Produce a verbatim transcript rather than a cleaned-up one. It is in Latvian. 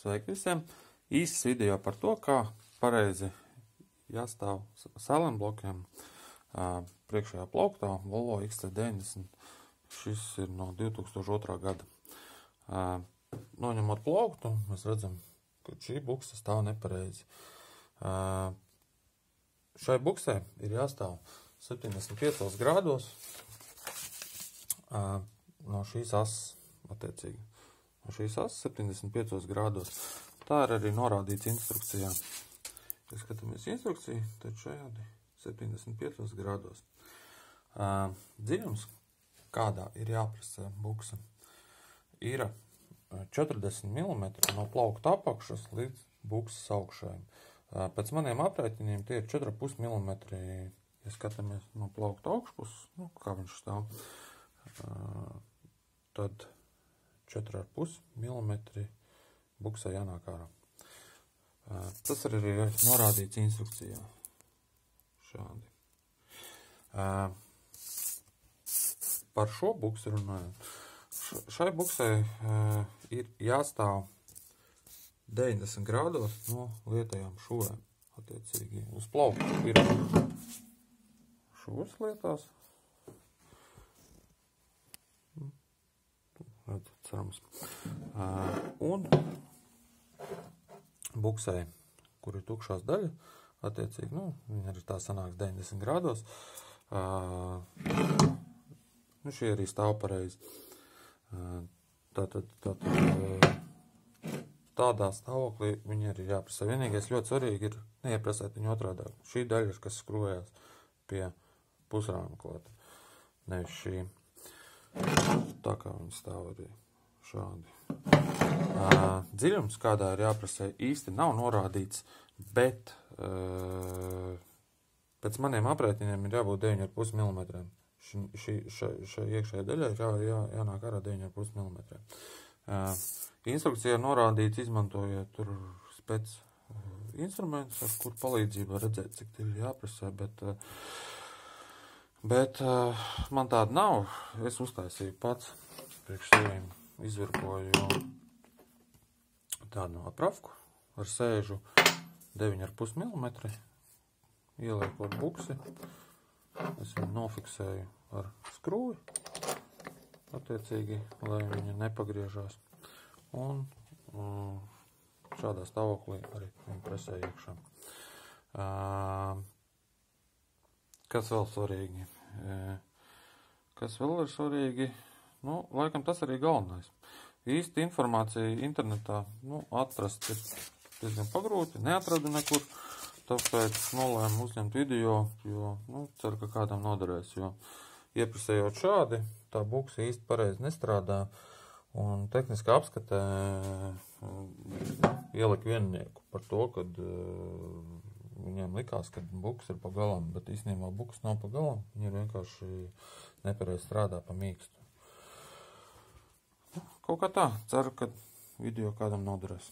Sveiki visiem! Īsts video par to, kā pareizi jāstāv sēlenblokiem priekšējā plauktā Volvo X C deviņdesmit. Šis ir no divi tūkstoši otrā gada. Noņemot plauktu, mēs redzam, ka šī bukse stāv nepareizi. Šai buksē ir jāstāv septiņdesmit piecos grādos no šīs asas, attiecīgi. No šīs asas septiņdesmit piecos grādos. Tā ir arī norādīts instrukcijā. Ja skatāmies instrukciju, tad šajādi septiņdesmit piecos grādos. Dziļums, kādā ir jāprasa buksa, ir četrdesmit milimetri no plaukta apakšas līdz buksas augšai. Pēc maniem aprēķiniem tie ir četri ar pus milimetri, ja skatāmies no plaukta augšpuses, nu, kā viņš stāv, tad četri ar pus milimetri buksai jānāk ārā. Tas arī ir norādīts instrukcijā. Šādi. Par šo buksu runājot. Šai buksai ir jāstāv deviņdesmit grādos no lietajām šūvēm. Attiecīgi uz plauktu ir šūvas lietās. Cerams. Un buksai, kur ir tukšās daļa, attiecīgi, nu, viņa arī tā sanāks deviņdesmit grādos. Nu, šie arī stāv pareizi. Tātad, tātad, tādā stāvoklī viņi arī jāprasa. Vienīgais ļoti svarīgi ir neieprasēt viņu otrādāk. Šī daļa ir, kas skrūvējās pie pusrāma klāta. Nevis šī. Tā kā viņi stāv arī šādi. Dziļums, kādā ir jāprasē, īsti nav norādīts, bet pēc maniem aprēķiniem ir jābūt deviņi ar pus milimetriem. Šai iekšējai daļai ir jā, jā, jānāk ārā deviņi ar pus milimetriem. Instrukcijā norādīts, izmantojiet tur spec instrumentus, ar kur palīdzību redzēt, cik ir jāprasē, bet Bet uh, man tāda nav. Es uztaisīju pats priekš sevīm, izvirpoju tādu aprafku ar sēžu deviņi ar pus milimetri, ieliekot buksi. Es viņu nofiksēju ar skrūvi, attiecīgi, lai viņa nepagriežās. Un um, šādā stāvoklī arī viņu presē iekšā. Uh, Kas vēl svarīgi? Kas vēl ir svarīgi? Nu, laikam tas arī galvenais. Īsti informācija internetā, nu, atrast ir diezgan pagrūti, neatradu nekur, tāpēc nolēmu uzņemt video, jo, nu, ceru, ka kādam noderēs, jo ieprasējot šādi, tā buksa īsti pareizi nestrādā, un tehniskā apskatē ielika viennieku par to, kad viņiem likās, ka buks ir pa galam, bet īstenībā buks nav pa galam, viņi ir vienkārši nepareizi strādā pa mīkstu. Kaut kā tā, ceru, ka video kādam noderēs.